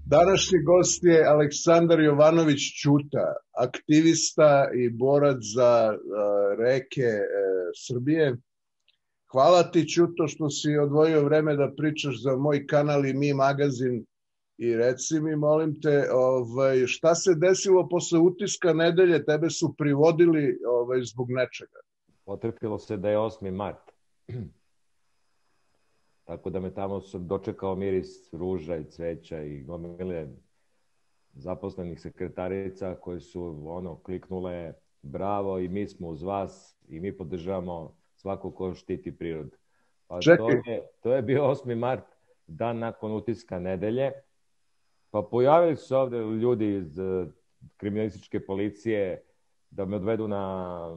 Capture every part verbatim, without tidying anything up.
Današnji gost je Aleksandar Jovanović Ćuta, aktivista i borac za uh, reke uh, Srbije. Hvala ti, Ćuto, što si odvojio vreme da pričaš za moj kanal i Mi magazin. I reci mi, molim te, ovaj, šta se desilo posle utiska nedelje? Tebe su privodili ovaj, zbog nečega. Potrefilo se da je osmi mart. Tako da me tamo sam dočekao miris ruža i cveća i gomile zaposlenih sekretarica koje su ono kliknule bravo i mi smo uz vas i mi podržavamo svako ko štiti prirodu. Pa to je, to je bio osmi mart, dan nakon utiska nedelje. Pa pojavili su se ovde ljudi iz kriminalističke policije da me odvedu na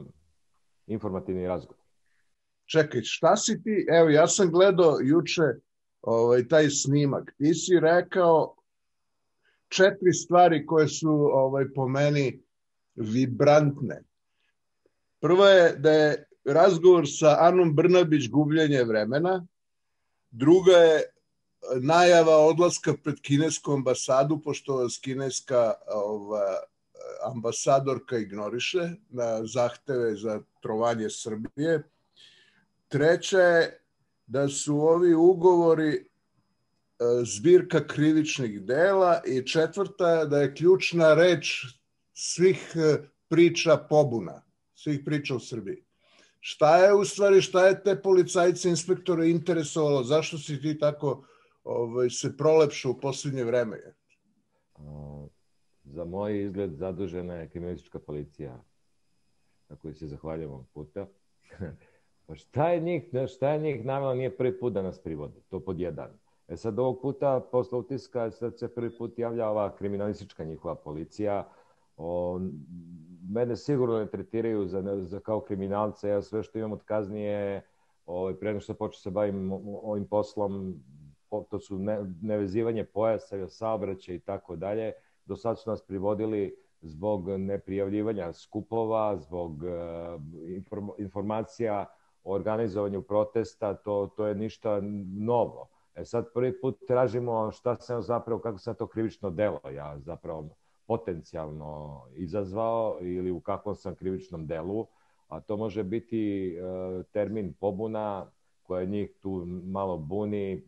informativni razgovor. Čekaj, šta si ti, evo ja sam gledao juče ovaj, taj snimak, ti si rekao četiri stvari koje su ovaj, po meni vibrantne. Prvo je da je razgovor sa Anom Brnabić gubljenje vremena, druga je najava odlaska pred kinesku ambasadu, pošto vas kineska ova, ambasadorka ignoriše na zahteve za trovanje Srbije. Treća je da su ovi ugovori zbirka krivičnih dela i četvrta je da je ključna reč svih priča pobuna, svih priča u Srbiji. Šta je u stvari, šta je te policajce, inspektore interesovalo? Zašto si ti tako ovaj, se prolepšao u posljednje vreme? Za moj izgled zadužena je kriminalistička policija, na kojoj se zahvaljujem ovog puta. Pa šta je njih, šta je njih navjelo, nije prvi put da nas privode, to pod jedan. E sad ovog puta, posle utiska, sad se prvi put javlja ova kriminalistička njihova policija. O, mene sigurno ne tretiraju za, za kao kriminalce, ja sve što imam od kazni je, o, pre nego što počeo se bavim ovim poslom, to su ne, nevezivanje pojasa, saobraćaj i tako dalje. Do sad su nas privodili zbog neprijavljivanja skupova, zbog uh, informacija o organizovanju protesta, to, to je ništa novo. E sad prvi put tražimo šta sam zapravo, kako sam to krivično delo, ja zapravo potencijalno izazvao ili u kakvom sam krivičnom delu, a to može biti uh, termin pobuna koja njih tu malo buni,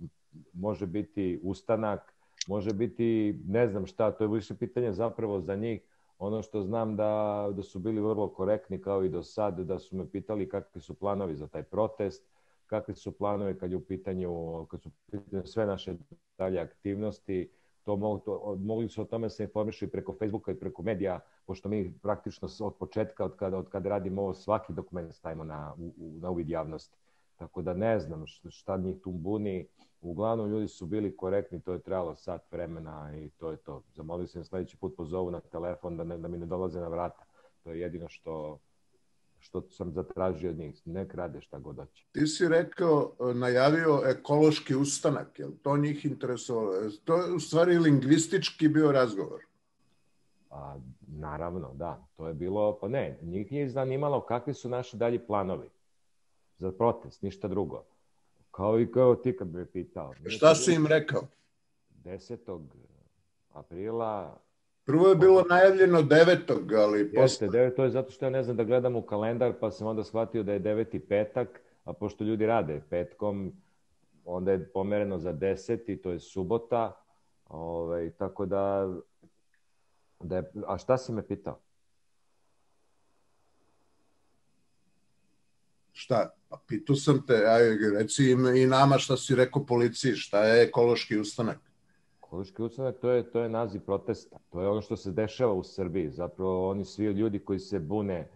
može biti ustanak, može biti ne znam šta, to je više pitanje zapravo za njih. Ono što znam da, da su bili vrlo korektni kao i do sad, da su me pitali kakvi su planovi za taj protest, kakvi su planovi kad je u pitanju, kad su u pitanju sve naše dalje aktivnosti. To mogu, to, mogli su o tome se informišu i preko Facebooka i preko medija, pošto mi praktično od početka, od kada, od kada radimo ovo, svaki dokument stavimo na, u, na uvid javnosti. Tako da ne znam šta njih tu buni. Uglavnom ljudi su bili korektni, to je trebalo sat vremena i to je to. Zamolio sam sljedeći put pozovu na telefon da, ne, da mi ne dolaze na vrata. To je jedino što, što sam zatražio od njih. Ne krade šta god hoće. Ti si rekao, najavio ekološki ustanak, je li to njih interesovalo? To je u stvari lingvistički bio razgovor. A, naravno, da. To je bilo, pa ne, njih nije zanimalo kakvi su naši dalji planovi za protest, ništa drugo. Kao i kao ti kad bi me pitao. Šta si im rekao? desetog aprila. Prvo je bilo najavljeno devetog ali Jeste, posle... devet, to je zato što ja ne znam da gledam u kalendar, pa sam onda shvatio da je deveti petak, a pošto ljudi rade petkom, onda je pomereno za deseti, to je subota. Ove, tako da, da je... A šta si me pitao? Šta? Pa pitao sam te, aj, reci i nama šta si rekao policiji, šta je ekološki ustanak? Ekološki ustanak, to je, to je naziv protesta. To je ono što se dešava u Srbiji. Zapravo oni svi ljudi koji se bune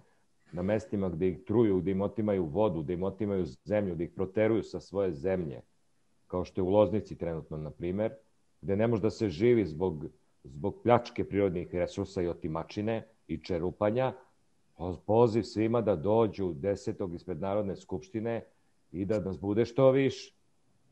na mestima gde ih truju, gde im otimaju vodu, gde im otimaju zemlju, gde ih proteruju sa svoje zemlje, kao što je u Loznici trenutno, na primer, gde ne može da se živi zbog, zbog pljačke prirodnih resursa i otimačine i čerupanja. Poziv svima da dođu desetog ispred Narodne skupštine i da nas bude što više.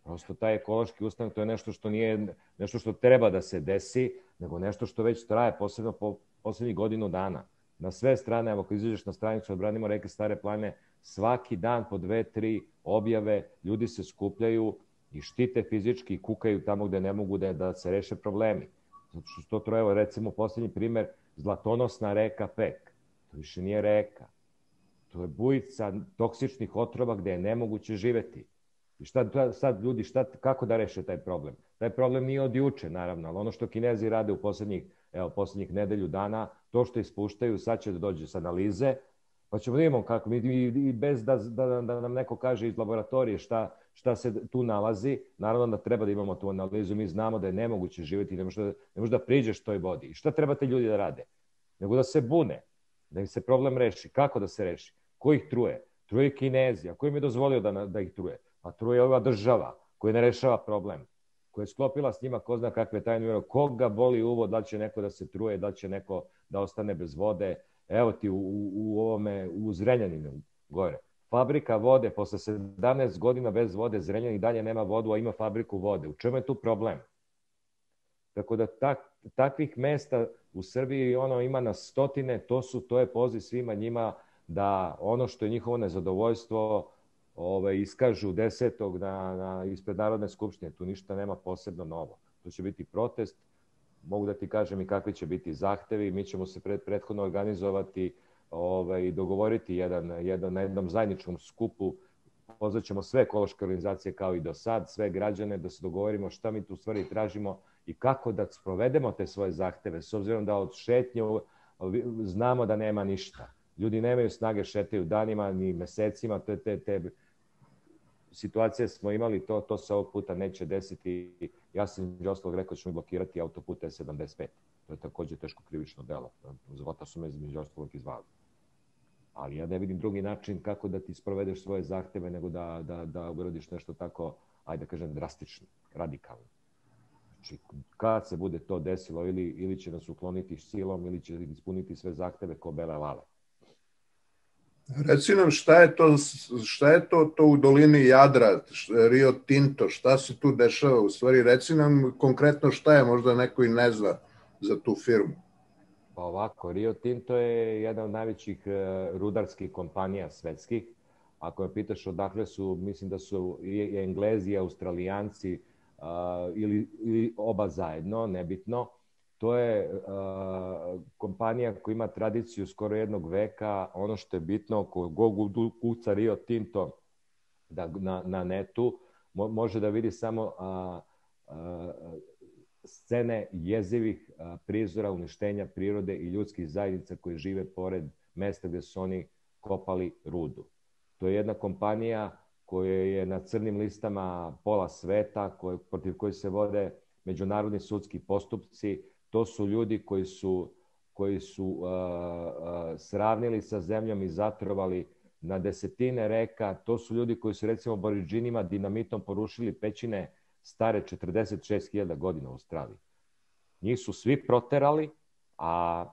Prosto taj ekološki ustanak, to je nešto što nije, nešto što treba da se desi, nego nešto što već traje, posebno po poslednjih godinu dana. Na sve strane, evo kad izađeš na stranicu Odbranimo reke Stare planine, svaki dan po dve, tri objave, ljudi se skupljaju i štite fizički i kukaju tamo gde ne mogu da, da se reše problemi. Zato što to, evo, recimo, posljednji primjer, zlatonosna reka Pek. To više nije reka. To je bujica toksičnih otrova gdje je nemoguće živjeti. I šta sad ljudi, šta, kako da reše taj problem? Taj problem nije od juče, naravno, ali ono što Kinezi rade u posljednjih, evo, posljednjih nedelju dana, to što ispuštaju, sad će da dođe s analize, pa ćemo da imamo kako, i bez da, da, da nam neko kaže iz laboratorije šta, šta se tu nalazi, naravno da treba da imamo tu analizu, mi znamo da je nemoguće živjeti, ne možeš da, ne možeš da priđeš toj vodi. I šta treba te ljudi da rade? Nego da se bune, da im se problem reši. Kako da se reši? Ko ih truje? Truje Kinezi. A ko im je dozvolio da, da ih truje? A truje ova država koja ne rešava problem, koja je sklopila s njima ko zna kakve tajne ugovore, koga boli uvo, da li će neko da se truje, da li će neko da ostane bez vode. Evo ti u, u, u ovome, u Zrenjaninu gore. Fabrika vode, posle sedamnaest godina bez vode, Zrenjanin dalje nema vodu, a ima fabriku vode. U čemu je tu problem? Tako da tak, takvih mesta u Srbiji ono ima na stotine, to su, to je poziv svima njima da ono što je njihovo nezadovoljstvo ove, iskažu desetog na, na, ispred Narodne skupštine. Tu ništa nema posebno novo. To će biti protest. Mogu da ti kažem i kakvi će biti zahtevi. Mi ćemo se pred, prethodno organizovati ove, i dogovoriti jedan, jedan, na jednom zajedničkom skupu. Pozvaćemo sve ekološke organizacije kao i do sad, sve građane da se dogovorimo šta mi tu stvari tražimo i kako da sprovedemo te svoje zahteve. S obzirom da od šetnje znamo da nema ništa. Ljudi nemaju snage, šetaju danima ni mesecima. Te, te, te situacije smo imali, to, to se ovog puta neće desiti. Ja sam između ostalog rekao da ćemo blokirati autoput E sedamdeset pet. To je također teško krivično delo. Zvota su me između ostalog izvali. Ali ja ne vidim drugi način kako da ti sprovedeš svoje zahteve nego da, da, da uradiš nešto tako, ajde da kažem, drastično, radikalno. Znači, kad se bude to desilo, ili, ili će nas ukloniti silom, ili će ispuniti sve zahteve ko bele lale. Reci nam šta je to, šta je to, to u dolini Jadra, Rio Tinto, šta se tu dešava u stvari? Reci nam konkretno šta je, možda neko i ne zna za tu firmu. Pa ovako, Rio Tinto je jedna od najvećih rudarskih kompanija svetskih. Ako me pitaš odakle su, mislim da su i Englezi i Australijanci uh, ili, ili oba zajedno, nebitno. To je uh, kompanija koja ima tradiciju skoro jednog veka. Ono što je bitno, ko Google kuca Rio Tinto da, na, na netu, mo, može da vidi samo uh, uh, scene jezivih uh, prizora uništenja prirode i ljudskih zajednica koji žive pored mesta gdje su oni kopali rudu. To je jedna kompanija koja je na crnim listama pola sveta, koje, protiv koje se vode međunarodni sudski postupci. To su ljudi koji su, koji su uh, uh, sravnili sa zemljom i zatrovali na desetine reka. To su ljudi koji su recimo Aboriđinima dinamitom porušili pećine stare četrdeset šest hiljada godina u Australiji. Njih su svi proterali, a,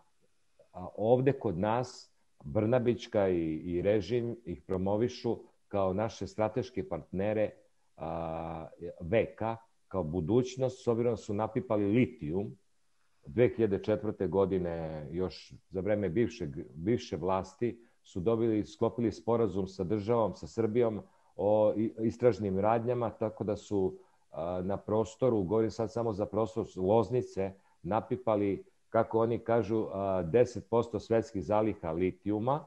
a ovde kod nas Brnabićka i, i režim ih promovišu kao naše strateške partnere a, veka, kao budućnost, s obzirom su napipali litijum. dve hiljade četvrte. godine, još za vreme bivšeg, bivše vlasti, su dobili, sklopili sporazum sa državom, sa Srbijom o istražnim radnjama, tako da su a, na prostoru, govorim sad samo za prostor Loznice, napipali, kako oni kažu, a, deset posto svetskih zaliha litijuma,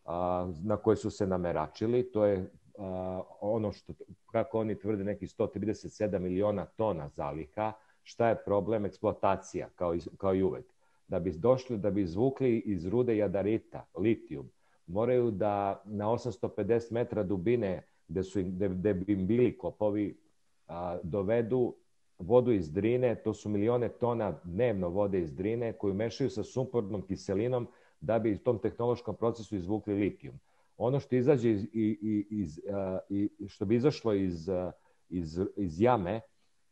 a, na koje su se nameračili. To je a, ono što, kako oni tvrde, neki sto trideset sedam miliona tona zaliha. Šta je problem? Eksploatacija, kao i, kao i uvek. Da bi došli, da bi izvukli iz rude jadarita, litijum, moraju da na osamsto pedeset metra dubine, gde, su, gde, gde bi im bili kopovi, a, dovedu vodu iz Drine. To su milione tona dnevno vode iz Drine, koju mešaju sa sumpornom kiselinom da bi u tom tehnološkom procesu izvukli litijum. Ono što izađe iz, iz, iz, iz, što bi izašlo iz, iz, iz jame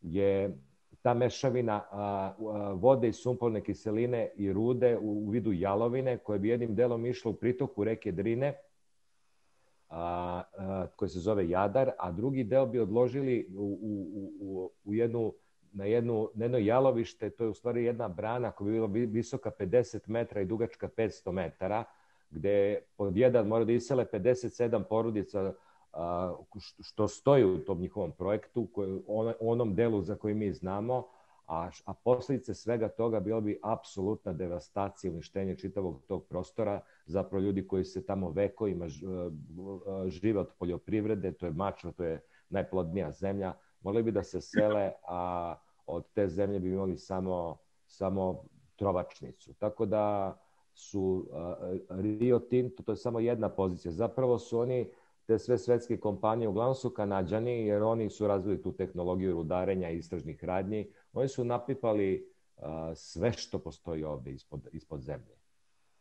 je ta mešavina a, a, vode i sumporne kiseline i rude u, u vidu jalovine, koje bi jednim delom išlo u pritoku reke Drine, a, a, koje se zove Jadar, a drugi deo bi odložili u, u, u, u jednu, na, jednu, na jedno jalovište. To je u stvari jedna brana koja bi bila visoka pedeset metara i dugačka petsto metara, gde pod jedan mora da isele pedeset sedam porodica, što stoji u tom njihovom projektu, u onom delu za koji mi znamo, a, a posljedice svega toga bilo bi apsolutna devastacija, uništenje čitavog tog prostora, zapravo ljudi koji se tamo vekovima žive od poljoprivrede, to je Mačva, to je najplodnija zemlja, mogli bi da se sele, a od te zemlje bi imali samo, samo trovačnicu. Tako da su uh, Rio Tinto, to je samo jedna pozicija. Zapravo su oni, te sve svetske kompanije, uglavnom su Kanađani, jer oni su razvili tu tehnologiju rudarenja i istražnih radnji. Oni su napipali uh, sve što postoji ovde ispod, ispod zemlje.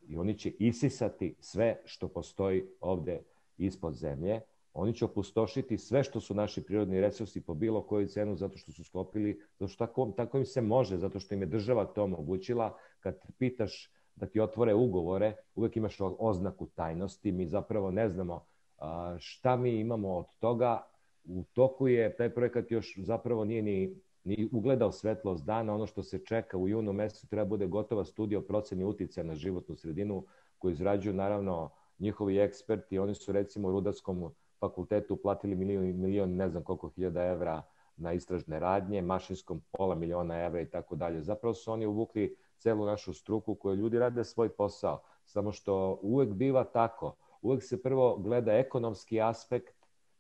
I oni će isisati sve što postoji ovde ispod zemlje. Oni će opustošiti sve što su naši prirodni resursi po bilo koju cenu, zato što su sklopili, zato što tako, tako im se može, zato što im je država to omogućila. Kad pitaš da ti otvore ugovore, uvek imaš oznaku tajnosti, mi zapravo ne znamo a, šta mi imamo od toga. U toku je, taj projekat još zapravo nije ni, ni ugledao svetlost dana. Ono što se čeka u junu mesecu treba bude gotova studija o proceni uticaja na životnu sredinu koju izrađuju naravno njihovi eksperti. Oni su recimo u Rudarskom fakultetu uplatili milion, milion ne znam koliko hiljada evra na istražne radnje, Mašinskom pola miliona evra i tako dalje. Zapravo su oni uvukli celu našu struku koju ljudi rade svoj posao. Samo što uvek biva tako. Uvek se prvo gleda ekonomski aspekt,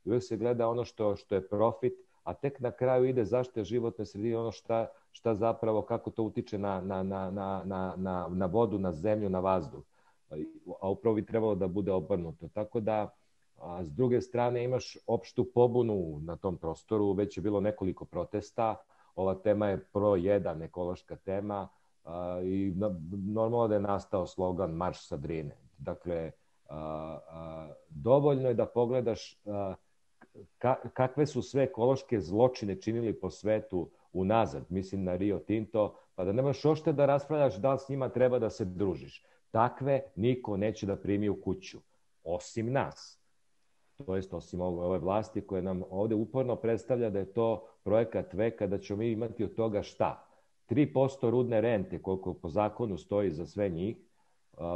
uvek se gleda ono što, što je profit, a tek na kraju ide zaštita životne sredine, ono šta, šta zapravo, kako to utiče na, na, na, na, na, na vodu, na zemlju, na vazduh. A upravo bi trebalo da bude obrnuto. Tako da, a s druge strane imaš opštu pobunu na tom prostoru, već je bilo nekoliko protesta, ova tema je pro jedan ekološka tema a, i na, normalno da je nastao slogan Marš sa Drine. Dakle, a, a, dovoljno je da pogledaš a, ka, kakve su sve ekološke zločine činili po svetu unazad, mislim na Rio Tinto, pa da nemaš ošte da raspravljaš da li s njima treba da se družiš. Takve niko neće da primi u kuću, osim nas. To jest osim ove vlasti koje nam ovde uporno predstavlja da je to projekat veka, da ćemo mi imati od toga šta? tri posto rudne rente, koliko po zakonu stoji za sve njih,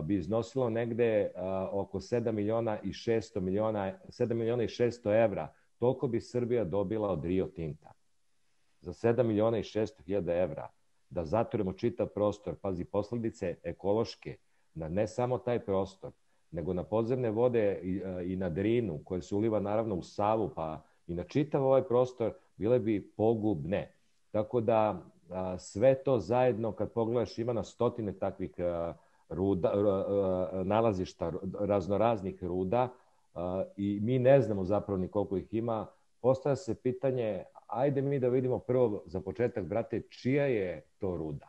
bi iznosilo negde oko sedam miliona i šesto miliona, sedam miliona i šesto evra. Toliko bi Srbija dobila od Rio Tinta. Za sedam miliona i šesto hiljada evra. Da zatvorimo čitav prostor, pazi, posledice ekološke, na ne samo taj prostor, nego na podzemne vode i, i na Drinu, koje se uliva naravno u Savu, pa i na čitav ovaj prostor, bile bi pogubne. Tako da a, sve to zajedno, kad pogledaš, ima na stotine takvih a, ruda, a, a, nalazišta raznoraznih ruda a, i mi ne znamo zapravo ni koliko ih ima. Postavlja se pitanje, ajde mi da vidimo prvo za početak, brate, čija je to ruda?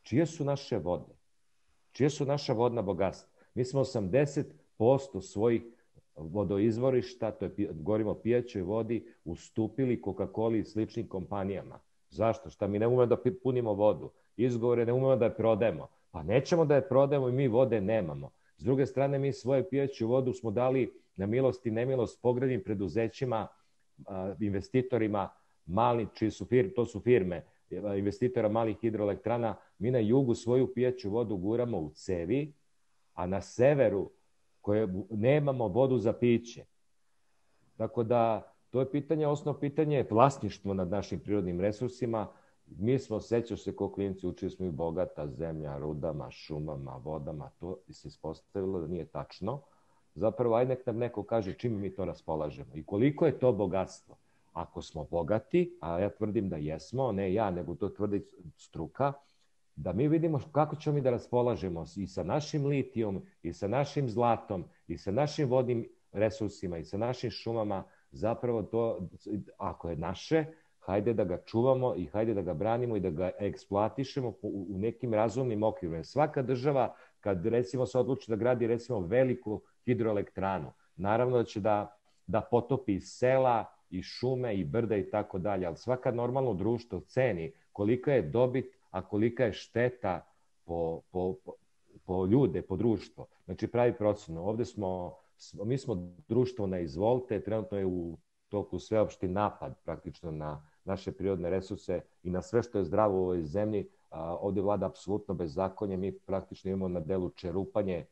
Čije su naše vode? Čije su naša vodna bogatstva? Mi smo osamdeset posto svojih vodoizvorišta, to je, govorimo o pijaćoj vodi, ustupili Coca-Coli i sličnim kompanijama. Zašto? Šta mi ne umemo da punimo vodu? Izgovore ne umemo da je prodajemo. Pa nećemo da je prodajemo i mi vode nemamo. S druge strane, mi svoje pijaću vodu smo dali na milost i nemilost pogrebnim preduzećima, investitorima, mali, čiji su firme, to su firme, investitora malih hidroelektrana. Mi na jugu svoju pijaću vodu guramo u cevi, a na severu koje nemamo vodu za piće. Tako da, to je pitanje, osnovno pitanje je vlasništvo nad našim prirodnim resursima. Mi smo, sećaš se ko klinci, učili smo i bogata zemlja, rudama, šumama, vodama, to se ispostavilo da nije tačno. Zapravo, ajde nek nam neko kaže čim mi to raspolažemo i koliko je to bogatstvo. Ako smo bogati, a ja tvrdim da jesmo, ne ja, nego to tvrdi struka, da mi vidimo kako ćemo mi da raspolažemo i sa našim litijom, i sa našim zlatom, i sa našim vodnim resursima, i sa našim šumama. Zapravo to, ako je naše, hajde da ga čuvamo i hajde da ga branimo i da ga eksploatišemo u nekim razumnim okvirima. Svaka država, kad recimo se odluči da gradi recimo veliku hidroelektranu, naravno da će da, da potopi i sela, i šume, i brda i tako dalje, ali svaka normalno društvo ceni kolika je dobit, a kolika je šteta po, po, po, po ljude, po društvo. Znači pravi procenu. Ovde smo, mi smo društvo na izvolte, trenutno je u toku sveopšti napad praktično na naše prirodne resurse i na sve što je zdravo u ovoj zemlji. A, ovde vlada apsolutno bezakonje, mi praktično imamo na delu čerupanje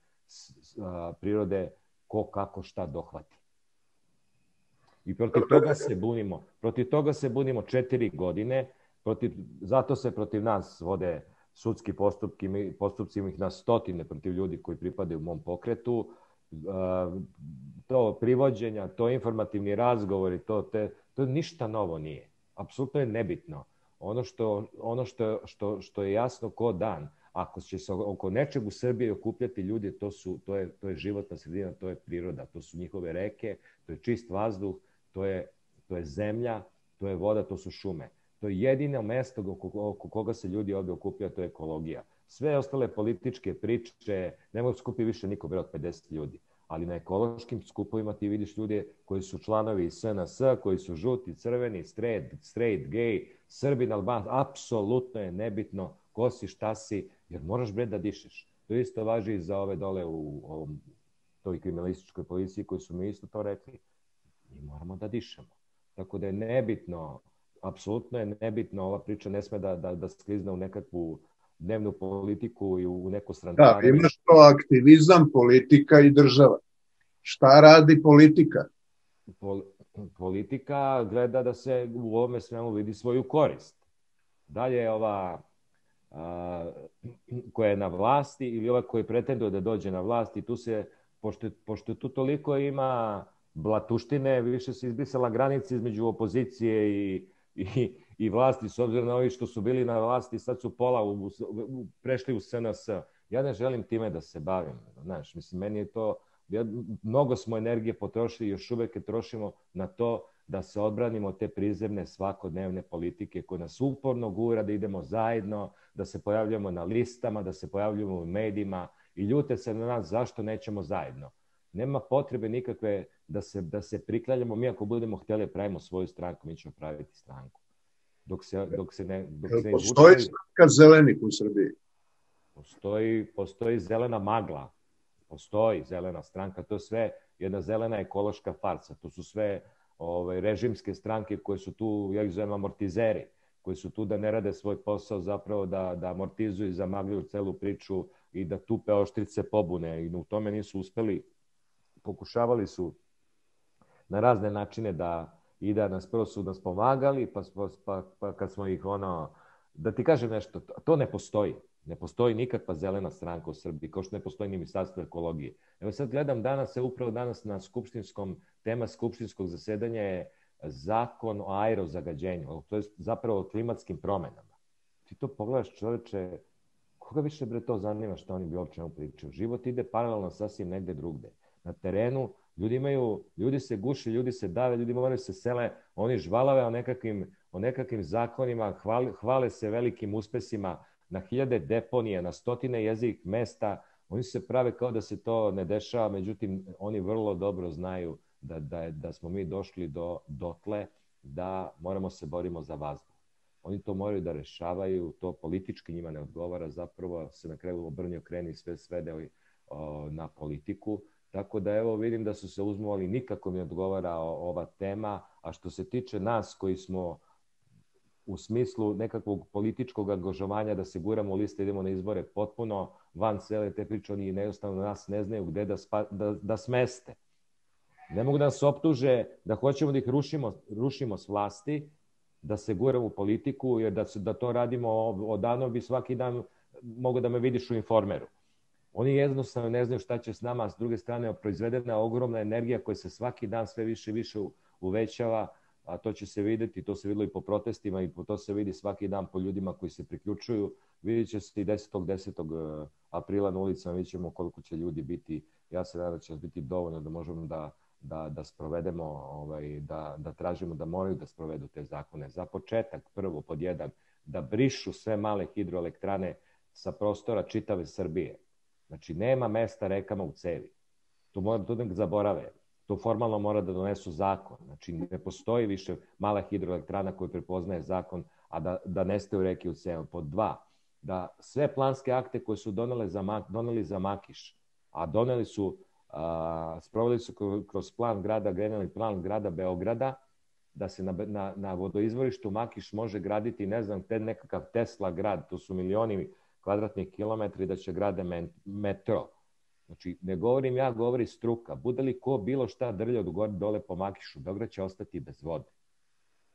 a, prirode ko kako šta dohvati. I protiv toga se bunimo. Protiv toga se bunimo četiri godine. Protiv, zato se protiv nas vode sudski postupki, mi, postupci ih na stotine protiv ljudi koji pripadaju mom pokretu. To privođenja, to informativni razgovori, to, te, to ništa novo nije. Apsolutno je nebitno. Ono što, ono što, što, što je jasno ko dan, ako će se oko nečeg u Srbiji okupljati ljudi, to, su, to, je, to je životna sredina, to je priroda, to su njihove reke, to je čist vazduh, to je, to je zemlja, to je voda, to su šume. To je jedino mesto oko, oko koga se ljudi ovdje okupljaju, to je ekologija. Sve ostale političke priče, ne mogu skupi više niko bre od pedeset ljudi. Ali na ekološkim skupovima ti vidiš ljude koji su članovi S N S, koji su žuti, crveni, straight, straight gay, Srbin, Alban, apsolutno je nebitno ko si, šta si, jer moraš bre da dišeš. To isto važi i za ove dole u ovom, toj kriminalističkoj policiji koji su mi isto to rekli. Mi moramo da dišemo. Tako da je nebitno, apsolutno je nebitno, ova priča ne sme da, da, da sklizne u nekakvu dnevnu politiku i u neko strančarenje. Da, imaš to aktivizam, politika i država. Šta radi politika? Pol, politika gleda da se u ovome svemu vidi svoju korist. Dalje ova a, koja je na vlasti ili ova koja pretenduje da dođe na vlast i tu se, pošto, pošto tu toliko ima blatuštine, više se izbrisala granica između opozicije i, i, i vlasti, s obzirom na ovi što su bili na vlasti, sad su pola u, u, prešli u S N S. Ja ne želim time da se bavim. Znaš, mislim, meni je to, ja, mnogo smo energije potrošili, još uvek je trošimo na to da se odbranimo te prizemne svakodnevne politike koje nas uporno gura da idemo zajedno, da se pojavljamo na listama, da se pojavljamo u medijima i ljute se na nas zašto nećemo zajedno. Nema potrebe nikakve da se, da se priklanjamo. Mi ako budemo htjeli pravimo svoju stranku, mi ćemo praviti stranku. Dok se, dok se ne... Dok se ne postoji izvuče... stranka zelenih u Srbiji? Postoji, postoji zelena magla. Postoji zelena stranka. To je sve jedna zelena ekološka farsa. To su sve ove, režimske stranke koje su tu, ja ih zovem amortizeri, koji su tu da ne rade svoj posao, zapravo da, da amortizuju i zamagljuju celu priču i da tupe oštrice pobune. I u tome nisu uspeli. Pokušavali su na razne načine da i da nas prvo su nas pomagali, pa, pa, pa kad smo ih ono, da ti kažem nešto, to ne postoji. Ne postoji nikakva zelena stranka u Srbiji, kao što ne postoji ni ministarstvo ekologije. Evo sad gledam danas, upravo danas na skupštinskom, tema skupštinskog zasedanja je zakon o aerozagađenju, to je zapravo o klimatskim promenama. Ti to pogledaš, čoveče, koga više bre to zanima što oni bi uopće ne pričaju? Život ide paralelno sasvim negde drugde. Na terenu ljudi imaju, ljudi se guši, ljudi se dave, ljudi moraju se sele, oni žvalave o nekakvim, o nekakvim zakonima, hvale, hvale se velikim uspesima na hiljade deponije, na stotine jezikih mesta, oni se prave kao da se to ne dešava, međutim oni vrlo dobro znaju da, da, da smo mi došli do dotle da moramo se borimo za vazduh. Oni to moraju da rešavaju, to politički njima ne odgovara, zapravo se na kraju obrnio kreni sve svede na politiku. Tako da evo vidim da su se uzmovali, nikako mi odgovara ova tema, a što se tiče nas koji smo u smislu nekakvog političkog angažovanja da se guramo u liste, idemo na izbore potpuno van cele te priče, oni jednostavno nas ne znaju gde da, spa, da, da smeste. Ne mogu da nas optuže da hoćemo da ih rušimo, rušimo s vlasti, da se guramo u politiku, jer da, se, da to radimo odavno bi svaki dan mogu da me vidiš u Informeru. Oni jednostavno ne znaju šta će s nama, a s druge strane proizvedena ogromna energija koja se svaki dan sve više i više uvećava, a to će se vidjeti, to se videlo i po protestima i to se vidi svaki dan po ljudima koji se priključuju. Vidjet će se i desetog desetog aprila na ulicama, vidjet ćemo koliko će ljudi biti. Ja se nadam da će biti dovoljno da možemo da, da, da sprovedemo, ovaj, da, da tražimo da moraju da sprovedu te zakone. Za početak, prvo, pod jedan, da brišu sve male hidroelektrane sa prostora čitave Srbije. Znači, nema mesta rekama u cevi. To mora da ne zaborave. To formalno mora da donesu zakon. Znači, ne postoji više mala hidroelektrana koja prepoznaje zakon, a da, da nestaju reke u cevi. Pod dva, da sve planske akte koje su doneli za, doneli za Makiš, a doneli su, a, sproveli su kroz plan grada, generalni plan grada Beograda, da se na, na, na vodoizvorištu Makiš može graditi, ne znam, te nekakav Tesla grad, to su milioni kvadratnih kilometri, da će grade metro. Znači, ne govorim ja, govori struka. Bude li ko bilo šta drlja od gore dole po Makišu, Beograd će ostati bez vode.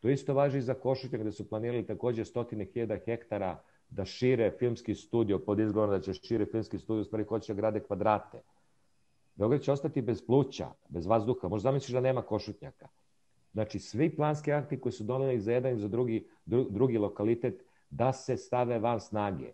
To isto važi i za Košutnjak, gde su planirali takođe stotine hiljada hektara da šire filmski studio, pod izgovorom da će šire filmski studio, u stvari hoće da grade kvadrate. Beograd će ostati bez pluća, bez vazduha. Možda zamisliš da nema Košutnjaka. Znači, svi planski akti koji su doneli za jedan i za drugi, dru, drugi lokalitet, da se stave van snage.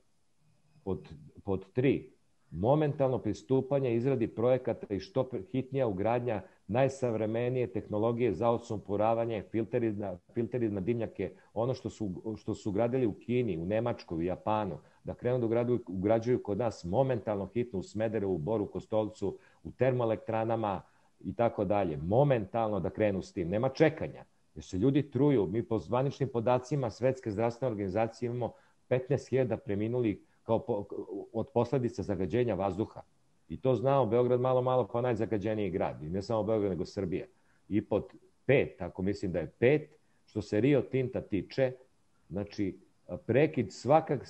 Pod, pod tri, momentalno pristupanje izradi projekata i što hitnija ugradnja najsavremenije tehnologije za odsumporavanje, filteri na, filteri na dimnjake, ono što su, što su gradili u Kini, u Nemačkoj, u Japanu, da krenu da ugrađuju, ugrađuju kod nas momentalno hitno u Smederevu, u Boru, Kostolcu, u termoelektranama i tako dalje. Momentalno da krenu s tim. Nema čekanja. Jer se ljudi truju. Mi po zvaničnim podacima Svetske zdravstvene organizacije imamo petnaest hiljada preminulih kao po, od posledica zagađenja vazduha. I to znamo, Beograd malo, malo pa najzagađeniji grad. I ne samo Beograd, nego Srbija. I pod pet, ako mislim da je pet, što se Rio Tinta tiče, znači prekid svakak,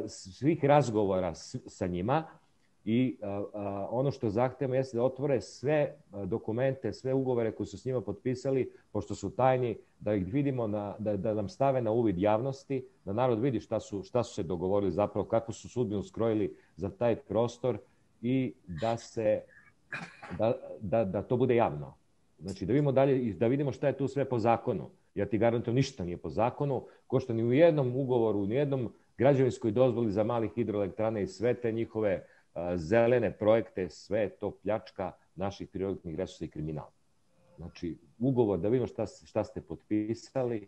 svih razgovora sa njima i ono što zahtevamo jeste da otvore sve dokumente, sve ugovore koje su s njima potpisali, pošto su tajni, da ih vidimo, na, da, da nam stave na uvid javnosti, da narod vidi šta su, šta su se dogovorili zapravo, kako su sudbinu skrojili za taj prostor i da se da, da, da to bude javno. Znači da vidimo dalje i da vidimo šta je tu sve po zakonu. Ja ti garantujem ništa nije po zakonu, ko što ni u jednom ugovoru, ni u jednom građevinskoj dozvoli za mali hidroelektrane i sve te njihove a, zelene projekte, sve je to pljačka naših prirodnih resursa i kriminal. Znači, ugovor da vidimo šta, šta ste potpisali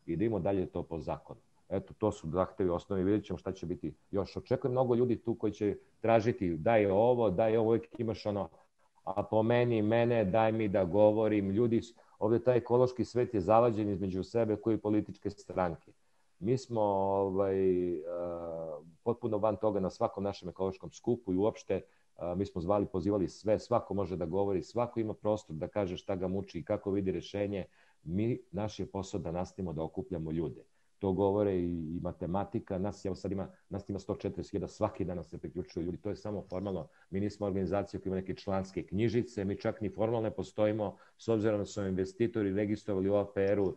i da vidimo dalje to po zakonu. Eto, to su zahtevi osnovi, vidjet ćemo šta će biti još. Očekujem mnogo ljudi tu koji će tražiti daj ovo, daj ovo, uvijek imaš ono, a po meni, mene, daj mi da govorim. Ljudi, ovdje taj ekološki svet je zavađen između sebe koji političke stranke. Mi smo ovaj, uh, potpuno van toga na svakom našem ekološkom skupu i uopšte uh, mi smo zvali, pozivali sve, svako može da govori, svako ima prostor da kaže šta ga muči i kako vidi rešenje. Mi, naš je posao da nastavimo da okupljamo ljude. To govore i, i matematika, nas, evo sad ima, nas ima sto četrdeset hiljada, svaki dan se priključuju ljudi, to je samo formalno, mi nismo organizacija koja ima neke članske knjižice, mi čak ni formalno ne postojimo, s obzirom da su investitori registrovali u O P R-u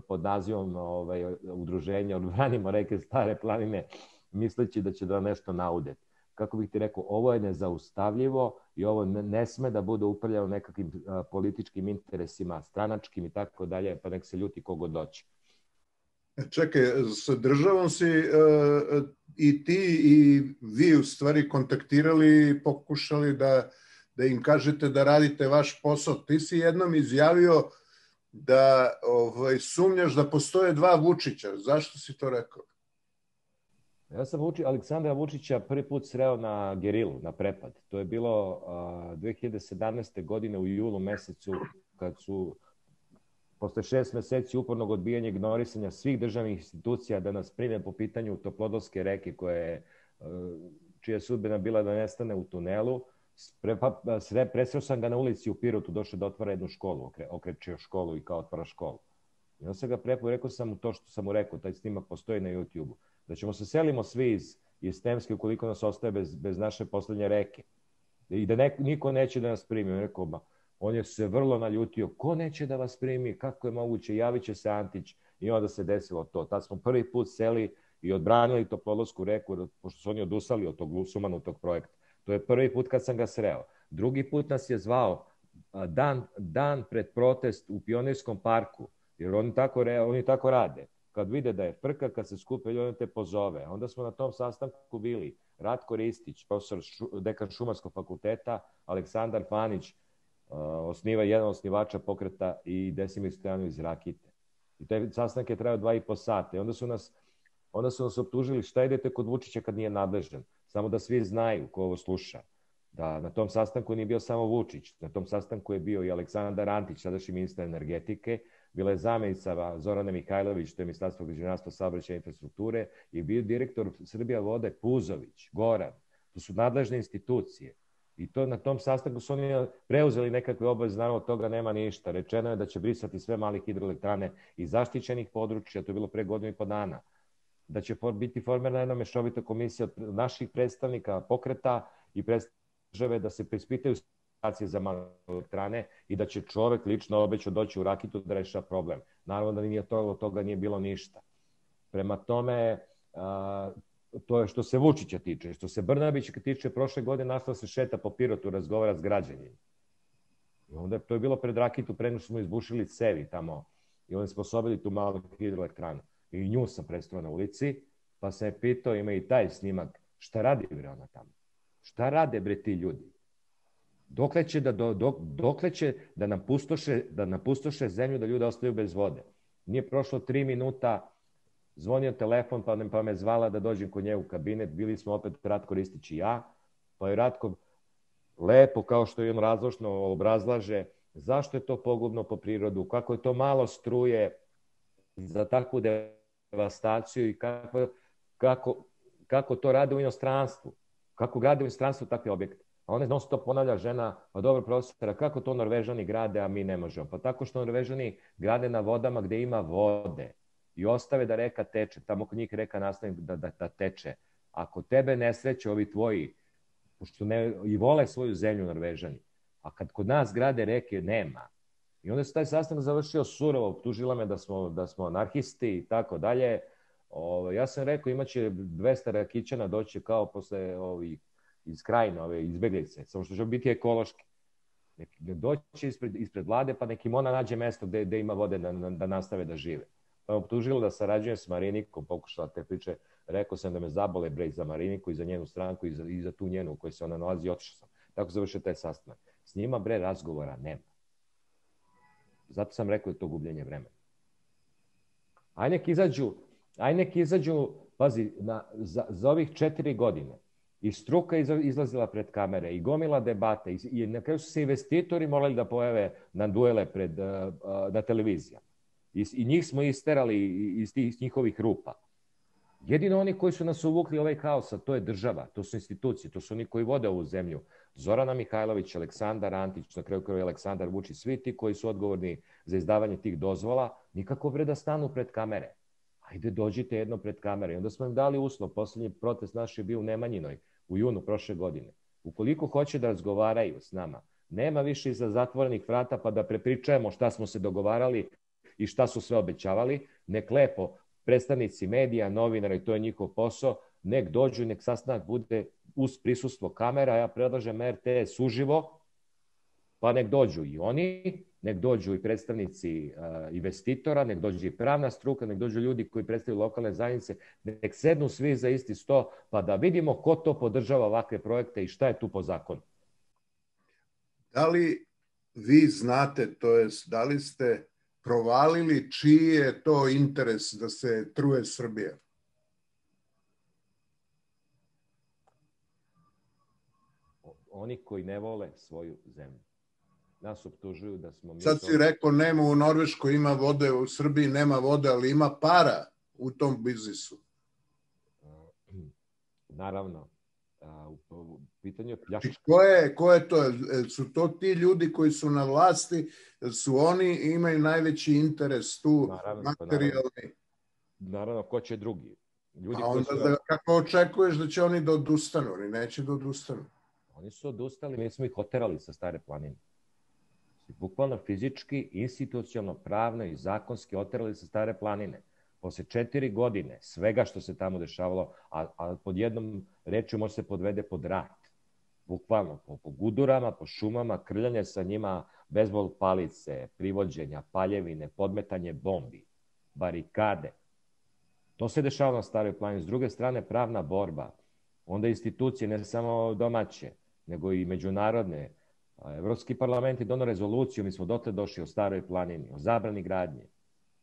pod nazivom ovaj, udruženja, odbranimo reke Stare planine, misleći da će da nešto naudeti. Kako bih ti rekao, ovo je nezaustavljivo i ovo ne, ne sme da bude upravljeno nekakvim a, političkim interesima, stranačkim i tako dalje, pa nek se ljuti kogo doći. Čekaj, sa državom si uh, i ti i vi u stvari kontaktirali i pokušali da, da im kažete da radite vaš posao. Ti si jednom izjavio da ovaj, sumnjaš da postoje dva Vučića. Zašto si to rekao? Ja sam Vuči, Aleksandra Vučića prvi put sreo na Gerilu, na prepad. To je bilo uh, dve hiljade sedamnaeste. godine u julu mesecu, kad su posle šest meseci upornog odbijanja i ignorisanja svih državnih institucija da nas prime po pitanju Toplodolske reke, koje, čija je sudbina bila da nestane u tunelu, presreo sam ga na ulici u Pirotu, došao da otvara jednu školu, okrećio školu i kao otvara školu. I on sam ga prepo, rekao sam mu to što sam mu rekao, taj snimak postoji na YouTube-u, da ćemo se selimo svi iz, iz Temske ukoliko nas ostaje bez, bez naše poslednje reke. I da ne, niko neće da nas primi. On rekao, ba, on je se vrlo naljutio, ko neće da vas primi, kako je moguće, javit će se Antić i onda se desilo to. Tad smo prvi put seli i odbranili Toplodolsku reku, pošto su oni odustali od tog sumanutog projekta. To je prvi put kad sam ga sreo. Drugi put nas je zvao dan, dan pred protest u Pionirskom parku, jer oni tako, oni tako rade. Kad vide da je frka, kad se skupe ljudi, te pozove. Onda smo na tom sastanku bili Ratko Ristić, profesor, dekan Šumarskog fakulteta, Aleksandar Fanić, osniva jedan osnivača pokreta i Desimir Stojanović iz Rakite. I taj sastanak je trajao dva i po sata. I onda su nas, onda su nas optužili šta idete kod Vučića kad nije nadležan. Samo da svi znaju ko ovo sluša. Da na tom sastanku nije bio samo Vučić. Na tom sastanku je bio i Aleksandar Antić, sadašnji ministar energetike, bila je zamjenica Zorana Mihajlović, to je Ministarstvo građevinarstva, saobraćaja i infrastrukture, i bio direktor Srbija vode Puzović, Goran. To su nadležne institucije. I to na tom sastanku su oni preuzeli nekakve obaveze, naravno od toga nema ništa. Rečeno je da će brisati sve male hidroelektrane iz zaštićenih područja, to je bilo pre godinu i po dana. Da će biti formirana jedna mešovita komisija od naših predstavnika pokreta i predstavnika da se preispitaju situacije za male elektrane i da će čovek lično obećao doći u Rakitu da reša problem. Naravno da nije to, od toga nije bilo ništa. Prema tome, a, to je što se Vučića tiče. Što se Brnabića tiče, prošle godine našla se šeta po Pirotu, razgovara s građanima. I onda to je bilo pred Rakitu, pre nego smo izbušili cevi tamo i onda smo sposobili tu malu hidroelektranu. I nju sam predstavio na ulici, pa sam je pitao, ima i taj snimak, šta radi bre ona tamo? Šta rade bre ti ljudi? Dokle će da, do, dok, dokle će da nam pustoše, da nam pustoše zemlju, da ljudi ostaju bez vode? Nije prošlo tri minuta, zvonio telefon, pa, pa me zvala da dođem kod nje u kabinet, bili smo opet Ratko Ristić i ja, pa je Ratko lepo, kao što je on razložno obrazlaže, zašto je to pogubno po prirodu, kako je to malo struje za takvu devastaciju i kako, kako, kako to rade u inostranstvu, kako grade u inostranstvu takve objekte. A ona non stop ponavlja žena, pa dobro profesora, kako to Norvežani grade, a mi ne možemo? Pa tako što Norvežani grade na vodama gde ima vode i ostave da reka teče, tamo kod njih reka nastavi da, da, da teče. Ako tebe ne sreće ovi tvoji, pošto ne, i vole svoju zemlju Norvežani, a kad kod nas grade reke, nema. I onda se taj sastanak završio surovo, optužila me da smo, da smo anarhisti i tako dalje. O, ja sam rekao, imaće dvesta rakićana doći kao posle ovih iz Krajine, ove izbeglice, samo što će biti ekološki. Nek doći ispred, ispred vlade, pa nek im ona nađe mesto gde, gde ima vode da, da nastave da žive. Pa optužila da sarađujem s Marinikom, pokušala te priče, rekao sam da me zabole bre za Mariniku i za njenu stranku i za, i za tu njenu u kojoj se ona nalazi i otišao sam. Tako završio taj sastanak. S njima bre razgovora nema. Zato sam rekao da je to gubljenje vremena. Aj nek izađu, aj nek izađu, pazi, na, za, za ovih četiri godine i struka izlazila pred kamere i gomila debate i, i na kraju su se investitori morali da pojave na duele pred, uh, uh, na televizijama. I, I njih smo isterali iz tih njihovih rupa. Jedino oni koji su nas uvukli ovaj haos, a to je država, to su institucije, to su oni koji vode ovu zemlju. Zorana Mihajlović, Aleksandar Antić, na kraju kraju Aleksandar Vučić, svi ti koji su odgovorni za izdavanje tih dozvola, nikako bre da stanu pred kamere. Ajde, dođite jedno pred kamere. I onda smo im dali uslov. Poslednji protest naš je bio u Nemanjinoj, u junu prošle godine. Ukoliko hoće da razgovaraju s nama, nema više iza zatvorenih vrata pa da prepričajemo šta smo se dogovarali i šta su sve obećavali. Nek lepo predstavnici medija, novinara, i to je njihov posao, nek dođu i nek sastanak bude uz prisustvo kamera. Ja predlažem R T S uživo, pa nek dođu i oni, nek dođu i predstavnici uh, investitora, nek dođu i pravna struka, nek dođu ljudi koji predstavljaju lokalne zajednice, nek sednu svi za isti sto, pa da vidimo ko to podržava ovakve projekte i šta je tu po zakonu. Da li vi znate, to jest, da li ste provalili čiji je to interes da se truje Srbija? Oni koji ne vole svoju zemlju. Nas optužuju da smo... Mi Sad si rekao, nema u Norveškoj, ima vode, u Srbiji nema vode, ali ima para u tom biznisu. Naravno. U pitanju... Znači, ko je, ko je to? Su to ti ljudi koji su na vlasti, su oni imaju najveći interes tu, naravno, materijalni? Naravno, naravno, ko će drugi? Ljudi A onda su... da, kako očekuješ da će oni da odustanu? Oni neće da odustanu. Oni su odustali, mi smo ih oterali sa Stare planine. Bukvalno fizički, institucionalno, pravno i zakonski oterali sa Stare planine. Posle četiri godine svega što se tamo dešavalo, a, a pod jednom rečju može se podvede pod rat. Bukvalno, po, po gudurama, po šumama, krljanje sa njima, bejzbol palice, privođenja, paljevine, podmetanje bombi, barikade. To se dešavalo na Staroj planini. S druge strane, pravna borba. Onda institucije, ne samo domaće, nego i međunarodne. Evropski parlament je donao rezoluciju, mi smo dotle došli o Staroj planini, o zabrani gradnje.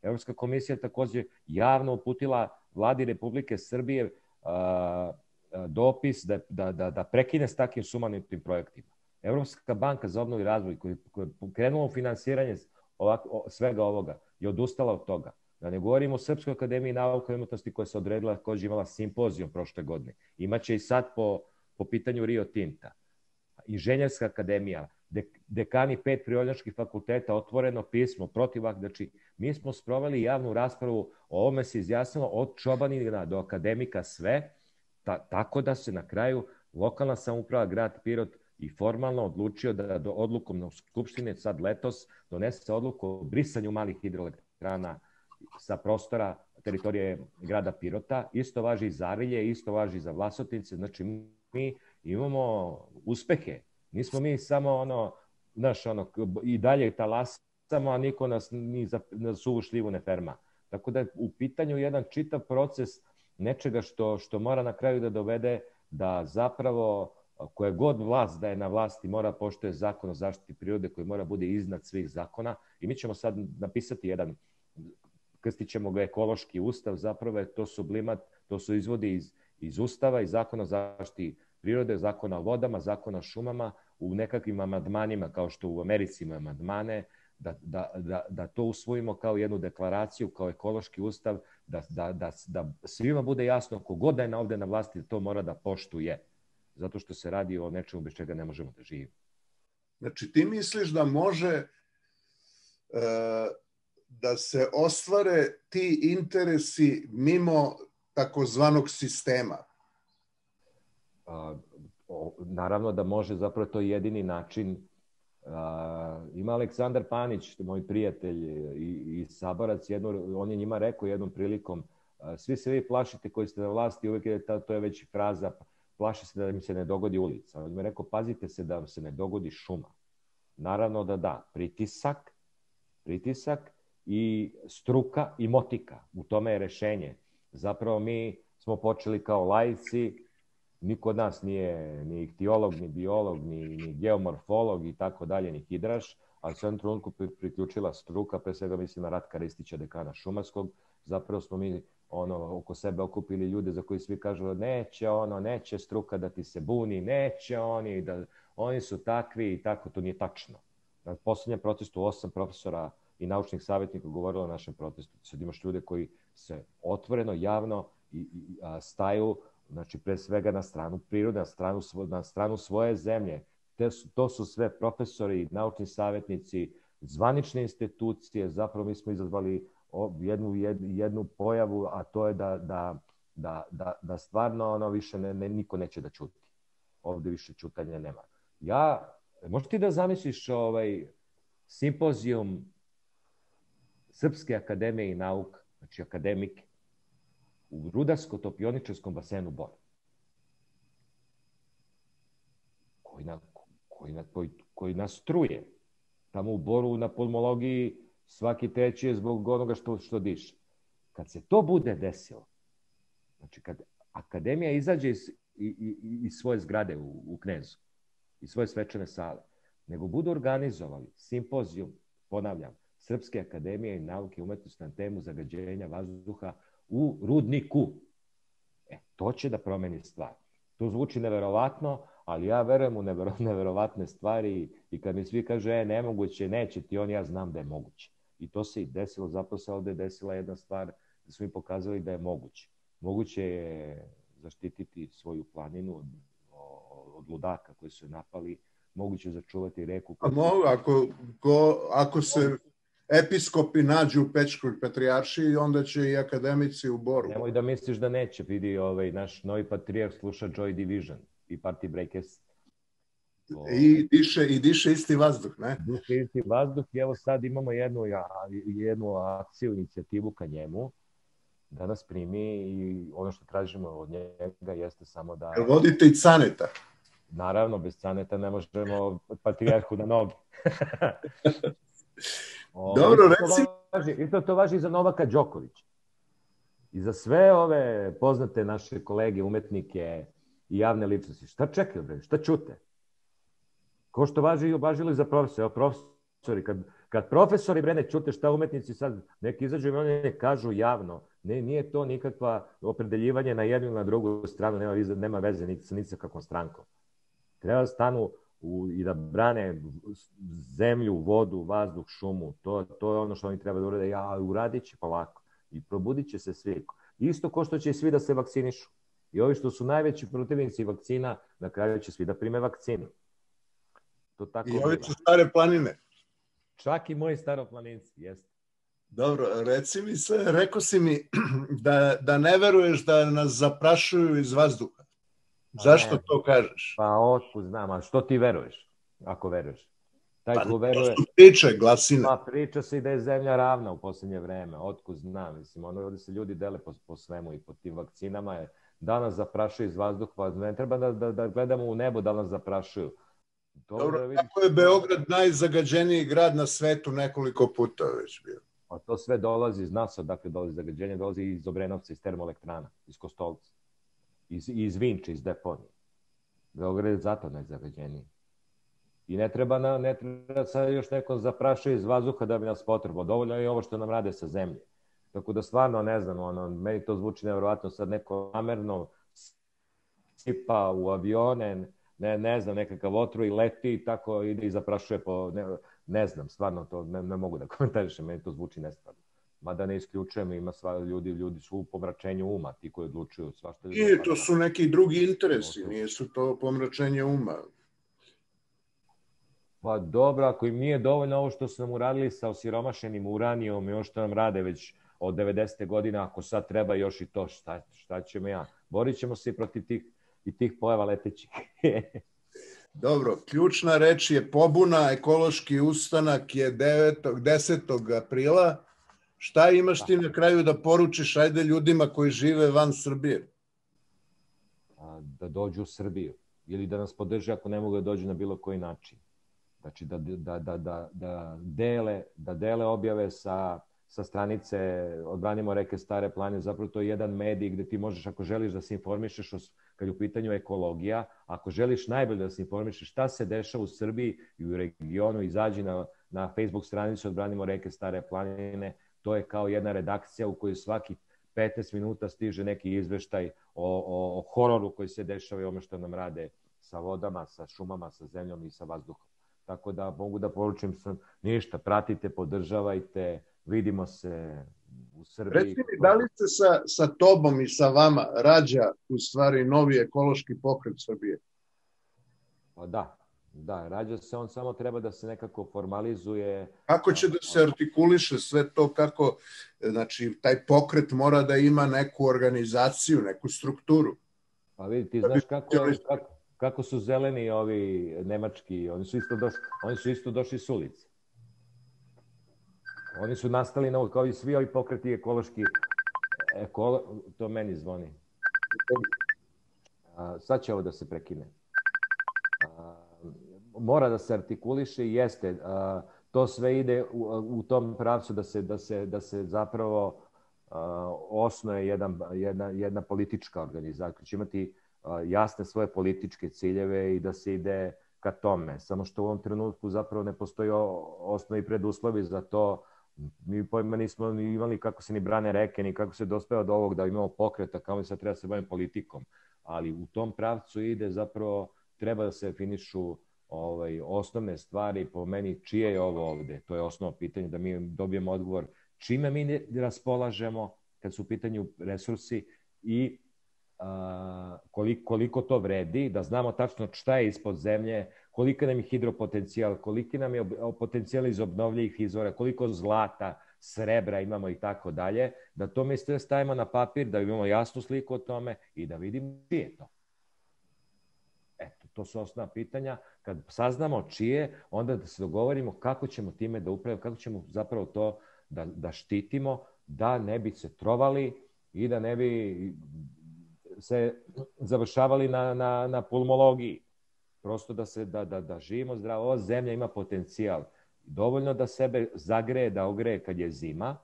Evropska komisija je takođe javno uputila vladi Republike Srbije a, a, dopis da, da, da, da prekine s takvim sumanutim projektima. Evropska banka za obnovu i razvoj koja je krenula u finansiranje ovako, svega ovoga je odustala od toga. Da ne govorimo o Srpskoj akademiji nauka i umetnosti koja se odredila, koja je imala simpozijum prošle godine. Imaće i sad po, po pitanju Rio Tinta. Inženjerska akademija, dekani pet prirodnjačkih fakulteta, otvoreno pismo protiv, znači mi smo sproveli javnu raspravu, o ovome se izjasnilo od čobanina do akademika sve, ta, tako da se na kraju lokalna samouprava grad Pirot i formalno odlučio da do odlukom na Skupštine sad letos donese odluku o brisanju malih hidroelektrana. elektrana sa prostora teritorije grada Pirota. Isto važi i za Arilje, isto važi za Vlasotince. Znači, mi imamo uspehe. Nismo mi samo ono, znaš, ono, i dalje talasamo, a niko nas ni za, za suvu šljivu ne ferma. Tako da je u pitanju jedan čitav proces nečega što, što mora na kraju da dovede da zapravo koje god vlast da je na vlasti mora poštuje zakon o zaštiti prirode koji mora bude iznad svih zakona. I mi ćemo sad napisati jedan, krstit ćemo ga ekološki ustav, zapravo je to sublimat, to su izvodi iz, iz ustava, iz zakona o zaštiti prirode, zakona o vodama, zakona o šumama, u nekakvim amandmanima, kao što u Americi imaju amandmane, da, da, da, da to usvojimo kao jednu deklaraciju, kao ekološki ustav, da, da, da, da svima bude jasno, kogod da je ovde na vlasti, to mora da poštuje. Zato što se radi o nečemu bez čega ne možemo da živimo. Znači, ti misliš da može e, da se ostvare ti interesi mimo takozvanog sistema? A, o, naravno da može, zapravo to je jedini način. A, ima Aleksandar Panić, moj prijatelj i, i saborac, jedno, on je njima rekao jednom prilikom, a, svi se vi plašite koji ste na vlasti, uvijek je ta, to je već fraza, plaši se da mi se ne dogodi ulica. On mi je rekao, pazite se da se ne dogodi šuma. Naravno da da, pritisak, pritisak i struka i motika. U tome je rešenje. Zapravo mi smo počeli kao laici, niko od nas nije ni ihtiolog, ni biolog, ni, ni geomorfolog i tako dalje, ni hidraš, ali se u jednom trenutku priključila struka, pre svega mislim na Ratka Ristića, dekana Šumarskog. Zapravo smo mi ono, oko sebe okupili ljude za koji svi kažu neće ono, neće struka da ti se buni, neće oni, da oni su takvi i tako, to nije tačno. Na poslednjem protestu osam profesora i naučnih savjetnika govorilo o našem protestu. Sad imaš ljude koji se otvoreno, javno i, i, a, staju, znači pre svega na stranu prirode, na stranu, na stranu svoje zemlje. Te su, to su sve profesori, naučni savjetnici, zvanične institucije, zapravo mi smo izazvali jednu, jednu pojavu, a to je da, da, da, da, da stvarno ono više ne, ne, niko neće da ćuti. Ovde više ćutanja nema. Ja, možeš ti da zamisliš ovaj simpozijum Srpske akademije i nauka, znači akademike, u Rudarsko-topioničarskom basenu Bor, koji, na, koji, na, koji, koji nas truje. Tamo u Boru na pulmologiji svaki treći je zbog onoga što, što diše. Kad se to bude desilo, znači kad akademija izađe iz, iz, iz svoje zgrade u, u Knezu, iz svoje svečane sale, nego budu organizovali simpozijum, ponavljam, Srpske akademije i nauke i umetnosti na temu zagađenja vazduha u Rudniku. E, to će da promeni stvar. To zvuči neverovatno, ali ja verujem u nevero, neverovatne stvari i kad mi svi kaže, e, nemoguće, neće ti on, ja znam da je moguće. I to se i desilo, zapravo se ovde desila jedna stvar da smo im pokazali da je moguće. Moguće je zaštititi svoju planinu od, od ludaka koji su je napali, moguće je začuvati reku. A mogu, ako, ko, ako se episkopi nađu u Pećkoj patrijaršiji, onda će i akademici u Boru. Nemoj da misliš da neće, vidi ovaj, naš novi patrijarh sluša Joy Division i Party Breakers. I diše, i diše isti vazduh, ne? Diše isti vazduh i evo sad imamo jednu, jednu akciju, inicijativu ka njemu, da nas primi i ono što tražimo od njega jeste samo da... Jel vodite i Caneta? Naravno, bez Caneta ne možemo patrijarhu na noge. Dobro, reci... Isto to važi i za Novaka Đokovića. I za sve ove poznate naše kolege, umetnike i javne ličnosti. Šta čekaju, bre? Šta čute? Ko što važi, važilo i za profesore. Evo, profesori, kad, kad profesori, bre, ne čute šta umetnici sad, neki izađu i oni ne kažu javno. Ne, nije to nikakva opredeljivanje na jednu ili na drugu stranu, nema, nema veze ni sa, ni sa kakvom strankom. Treba da stanu u, i da brane zemlju, vodu, vazduh, šumu. To, to je ono što oni treba da urade. Ja, uradit će polako. I probudit će se svi. Isto ko što će svi da se vakcinišu. I ovi što su najveći protivnici vakcina, na kraju će svi da prime vakcinu. To tako I ovi su stare planine. Čak i moji staroplaninci, jeste. Dobro, reci mi sve, rekao si mi da, da ne veruješ da nas zaprašuju iz vazduha. Zašto ne, to kažeš? Pa otkud znam, a što ti veruješ, ako veruješ? Taj Pa ko to veruje... su priče, glasine. Pa priča se i da je zemlja ravna u posljednje vreme, otkud znam, mislim, ono ovdje se ljudi dele po, po svemu i po tim vakcinama je, da nas zaprašuju iz vazduha, pa ne treba da, da, da gledamo u nebo da nas zaprašuju. To Dobro, da vidiš... kako je Beograd najzagađeniji grad na svetu nekoliko puta već bio? A to sve dolazi iz nas, odakle dolazi zagađenje, dolazi iz Obrenovca, iz termoelektrana, iz Kostolca, iz, iz Vinče, iz deponije. Beograd je zato najzagađeniji. I ne treba, na, ne treba sad još neko zaprašuje iz vazduha da bi nas potrebalo. Dovoljno je i ovo što nam rade sa zemlje. Tako da stvarno ne znam, ono, meni to zvuči nevjerovatno, sad neko namerno sipa u avione, ne, ne znam, nekakav otru i leti i tako ide i zaprašuje po, ne, ne znam, stvarno to ne, ne mogu da komentarišem, meni to zvuči nestvarno. Mada ne isključujem, ima sva, ljudi, ljudi su u pomračenju uma, ti koji odlučuju svašta. I to su neki drugi interesi, nisu to pomračenje uma. Pa dobro, ako im nije dovoljno ovo što su nam uradili sa osiromašenim uranijom i ovo što nam rade već od devedesete godina, ako sad treba još i to, šta, šta ćemo ja? Borit ćemo se i protiv tih, i tih pojava letećih. Dobro, ključna reč je pobuna, ekološki ustanak je devetog, desetog aprila. Šta imaš ti na kraju da poručiš, ajde ljudima koji žive van Srbije? Da dođu u Srbiju ili da nas podrže ako ne mogu da dođu na bilo koji način. Znači da, da, da, da, da, dele, da dele objave sa, sa stranice Odbranimo reke Stare planine. Zapravo to je jedan medij gde ti možeš, ako želiš da se informišeš o, kad je u pitanju ekologija, ako želiš najbolje da se informišeš šta se dešava u Srbiji i u regionu, izađi na, na Facebook stranicu Odbranimo reke Stare planine. To je kao jedna redakcija u kojoj svaki petnaest minuta stiže neki izveštaj o, o, o hororu koji se dešava i ome što nam rade sa vodama, sa šumama, sa zemljom i sa vazduhom. Tako da mogu da poručim sam ništa, pratite, podržavajte, vidimo se u Srbiji. Reci mi, da li se sa, sa tobom i sa vama rađa u stvari novi ekološki pokret Srbije? Pa da, da, rađa se, on samo treba da se nekako formalizuje. Kako će da se artikuliše sve to, kako, znači, taj pokret mora da ima neku organizaciju, neku strukturu? Pa vidi, ti znaš kako je, kako, kako su zeleni ovi nemački, oni su isto došli, oni su isto došli s ulice. Oni su nastali na, kao i svi ovi pokreti ekološki, ekolo, to meni zvoni. A, sad će ovo da se prekine. A, mora da se artikuliše i jeste, a, to sve ide u, u tom pravcu da se, da se, da se zapravo a, osnuje jedan, jedna, jedna politička organizacija, će imati a, jasne svoje političke ciljeve i da se ide ka tome. Samo što u ovom trenutku zapravo ne postoji osnovi preduslovi za to. Mi pojma nismo imali kako se ni brane reke, ni kako se dospeva do ovog da imamo pokreta, kao mi sad treba se baviti politikom. Ali u tom pravcu ide zapravo, treba da se finišu ovaj, osnovne stvari, po meni čije je ovo ovde. To je osnovno pitanje, da mi dobijemo odgovor čime mi raspolažemo kad su u pitanju resursi i a, koliko, koliko to vredi, da znamo tačno šta je ispod zemlje, koliko nam je hidropotencijal, koliko nam je potencijal iz obnovljivih izvora, koliko zlata, srebra imamo i tako dalje, da to mi sve stavimo na papir, da imamo jasnu sliku o tome i da vidimo čije je to. Eto, to su osnovna pitanja. Kad saznamo čije, onda da se dogovorimo kako ćemo time da upravimo, kako ćemo zapravo to da, da štitimo, da ne bi se trovali i da ne bi se završavali na, na, na pulmologiji. Prosto da, se, da, da, da živimo zdravo. Ova zemlja ima potencijal. Dovoljno da sebe zagreje, da ogreje kad je zima,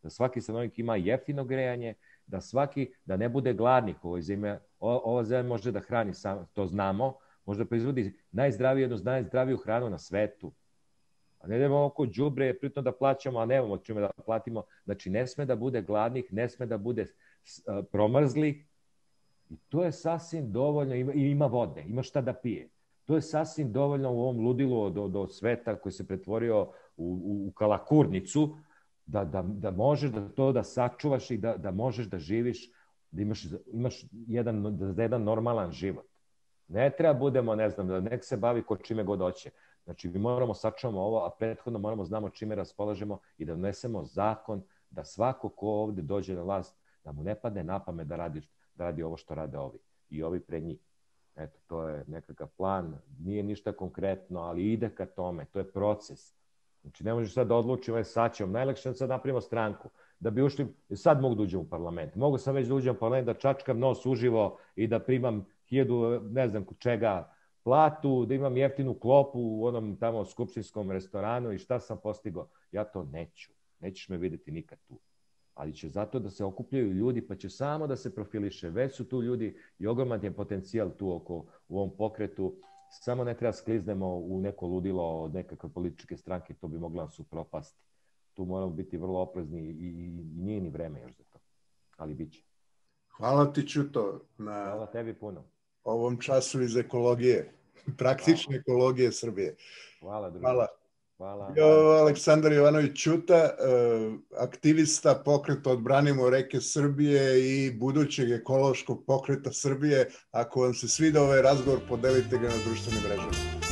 da svaki stanovnik ima jeftino grejanje, da svaki, da ne bude gladnik u ovoj zimi. O, ova zemlja može da hrani, sam, to znamo, može da proizvodi najzdraviju, jednu najzdraviju hranu na svetu. A ne idemo oko đubre, pritom da plaćamo, a nemamo čime da platimo. Znači, ne sme da bude gladnih, ne sme da bude uh, promrzlih. I to je sasvim dovoljno, ima, ima vode, ima šta da pije. To je sasvim dovoljno u ovom ludilu do, do sveta koji se pretvorio u, u, u kalakurnicu, da, da, da možeš da to da sačuvaš i da, da možeš da živiš, da imaš, imaš jedan, da jedan normalan život. Ne treba budemo, ne znam, da nek se bavi ko čime god hoće. Znači, mi moramo sačuvamo ovo, a prethodno moramo znamo čime raspolažemo i da donesemo zakon da svako ko ovde dođe na vlast, da mu ne padne na pamet da radi, da radi ovo što rade ovi i ovi pred njih. Eto, to je nekakav plan, nije ništa konkretno, ali ide ka tome, to je proces. Znači, ne možeš sad da odlučimo, sad ćemo, najlakše da sad napravimo stranku, da bi ušli, sad mogu da uđem u parlament, mogu sam već da uđem u parlament, da čačkam nos uživo i da primam hiljadu, ne znam čega, platu, da imam jeftinu klopu u onom tamo skupštinskom restoranu i šta sam postigao. Ja to neću, nećeš me videti nikad tu. Ali će zato da se okupljaju ljudi, pa će samo da se profiliše. Već su tu ljudi i ogroman je potencijal tu oko, u ovom pokretu. Samo ne treba skliznemo u neko ludilo od nekakve političke stranke, to bi mogla nas upropasti. Tu moramo biti vrlo oprezni i, i nije ni vreme još za to. Ali bit će. Hvala ti, Ćuto, na Hvala tebi puno. Ovom času iz ekologije, praktične ekologije Srbije. Hvala, druže. Hvala. Hvala. Jo, Aleksandar Jovanović Ćuta, aktivista pokreta Odbranimo reke Srbije i budućeg ekološkog pokreta Srbije. Ako vam se sviđa ovaj razgovor, podelite ga na društvenim mrežama.